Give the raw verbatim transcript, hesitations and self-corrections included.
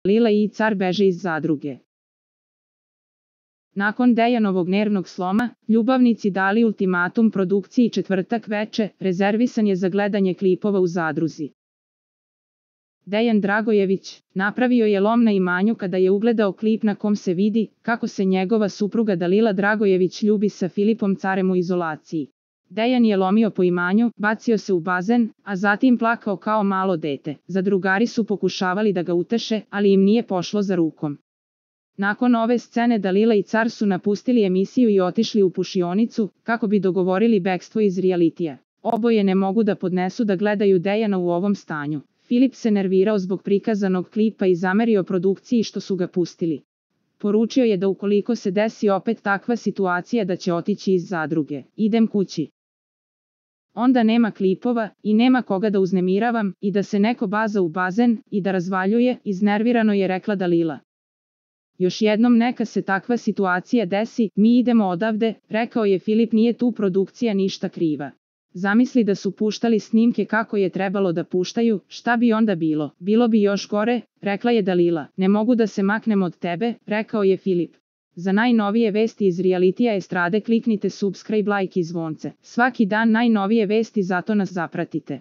Dalila i car beže iz zadruge. Nakon Dejanovog nervnog sloma, ljubavnici dali ultimatum produkciji četvrtak veče, rezervisan je za gledanje klipova u zadruzi. Dejan Dragojević napravio je lom na imanju kada je ugledao klip na kom se vidi kako se njegova supruga Dalila Dragojević ljubi sa Filipom carem u izolaciji. Dejan je lomio po imanju, bacio se u bazen, a zatim plakao kao malo dete. Zadrugari su pokušavali da ga uteše, ali im nije pošlo za rukom. Nakon ove scene Dalila i car su napustili emisiju i otišli u pušionicu, kako bi dogovorili bekstvo iz realitija. Oboje ne mogu da podnesu da gledaju Dejana u ovom stanju. Filip se nervirao zbog prikazanog klipa i zamerio produkciji što su ga pustili. Poručio je da ukoliko se desi opet takva situacija da će otići iz zadruge. Idem kući. Onda nema klipova i nema koga da uznemiravam i da se neko baza u bazen i da razvaljuje, iznervirano je rekla Dalila. Još jednom neka se takva situacija desi, mi idemo odavde, rekao je Filip, nije tu produkcija ništa kriva. Zamisli da su puštali snimke kako je trebalo da puštaju, šta bi onda bilo? Bilo bi još gore, rekla je Dalila. Ne mogu da se maknem od tebe, rekao je Filip. Za najnovije vesti iz realitija estrade kliknite subscribe, like i zvonce. Svaki dan najnovije vesti, zato nas zapratite.